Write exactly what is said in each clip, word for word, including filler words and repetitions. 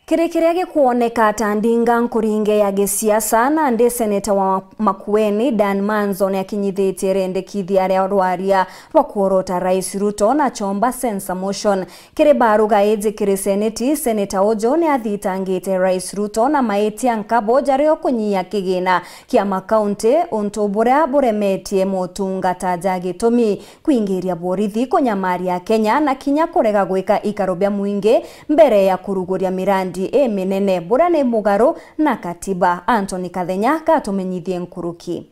Kiri kiria gikwoneka ta ndinga nkuringe ya gisiasa, nandi seneta wa Makueni, Dan Manzo, niakinyithitie rendekithia ria rwaria rwa kworota Rais Ruto na chomba censure motion. Kiri baruga iji kiri seneti, seneta uju niathitangite Rais Ruto na maitia nkabo jaria ukunyia kigina kia makaunti, untu buria buremetie motungata ja gitumi, kuingiria borithi, kunyamaria Kenya na kinya kurega gwika ikaro bia mwingi mbere ya kuruguria mirandi iminene, buria ni mugaru na katiba. Anthony Kathenya gatumenyithie nkuruki.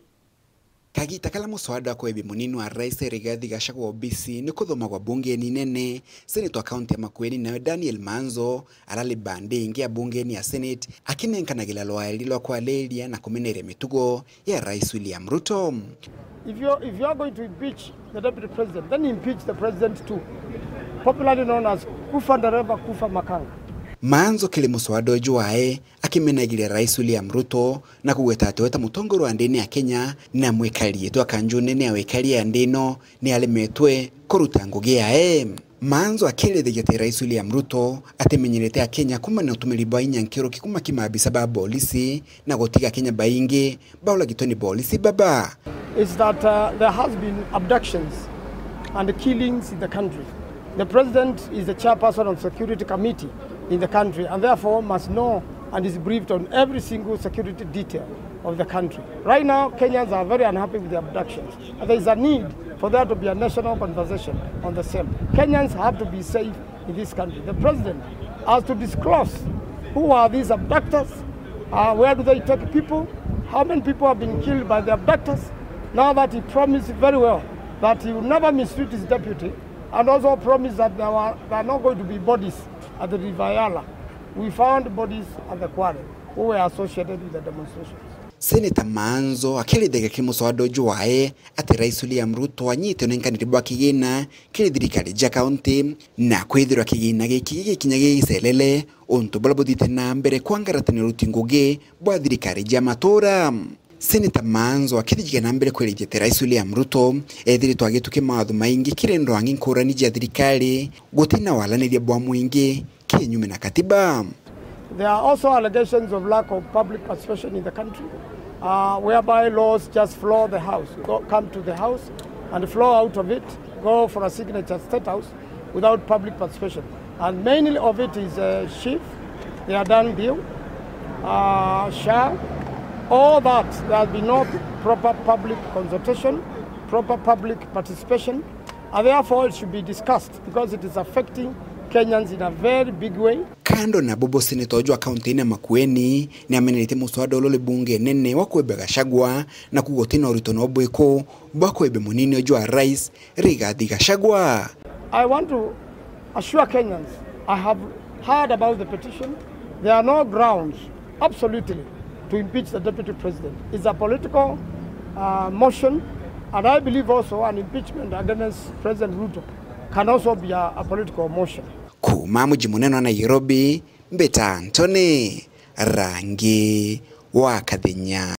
Kagita karia muswada wa kwebia munini wa rais Rigathi Gachagua obisi ni kuthomagwa bungeni nene, seneta wa kaunti ya Makueni nawe Daniel Manzo arari bandi ingi ya bungeni ya Senate akinenkanagira rwaeri rwa kwariria na kumeneria mitugo ya Rais William Ruto. If you, if you are going to impeach the deputy president, then impeach the president too. Popularly known as kufa ndereva, kufa makanga. Manzo kiri muswada uju wae akimenagiria Rais William Ruto na kugweta ati we ta mutongoria wa ndini ya Kenya na mwikari itwa kanju nene ya wikari ya ndi ino ni aremetwe kuruta ngugi yae. Manzo akirithagia ati Rais William Ruto atimenyerete Akenya kuumania na utumiri bwa inya nkiruki kuuma ki maabisa ba bolisi na gutiga Akenya baingi bauragitwe ni bolisi baba. Is that, uh, there has been abductions and killings in the country. The president is the chairperson of security committee in the country and therefore must know and is briefed on every single security detail of the country. Right now, Kenyans are very unhappy with the abductions. And there is a need for there to be a national conversation on the same. Kenyans have to be safe in this country. The president has to disclose who are these abductors, uh, where do they take people, how many people have been killed by the abductors, now that he promised very well that he will never mistreat his deputy, and also promised that there, were, there are not going to be bodies at the River Yala. We found bodies at the quarry who were associated with the demonstrations. Seneta Manzo akirithagia kiri muswada uju wae ati Rais William Ruto anyite unenkaniri bwa kigina kiri thirikari ja kaunti, na kwithirwa kigina giki gigikinya gigicerere untu buria buthiite na mbere kwangaratania uruti ngugi bwa thirikari ja matura. Seneta Manzo akithijagia na mbere kwirithia ati Rais William Ruto ethiritwe agitukia mawatho maingi kiri ndwangi nkurani ja thirikari guti na waraniria bwa mwingi kinyume na katiba. There are also allegations of lack of public participation in the country, uh, whereby laws just floor the house, go, come to the house and flow out of it, go for a signature at State House without public participation. And mainly of it is, uh, SHIF, they are done deal, uh, SHA, all that. There has been no proper public consultation, proper public participation, and therefore it should be discussed because it is affecting Kenyans in a very big way. Kando na bubu, seneta uju wa kaunti ya Makueni ni ameneretie muswada uria uri bunge nene wa kwebia Gachagua na kuuga uti na urito no bwiku bwa kwebia munini uju wa rais Rigathi Gachagua. I want to assure Kenyans, I have heard about the petition. There are no grounds, absolutely, to impeach the deputy president. It's a political, uh, motion, and I believe also an impeachment against President Ruto can also be a, a political motion. Kuuma muji munene wa Nairobi, mbita Anthony Rangi wa Kathenya.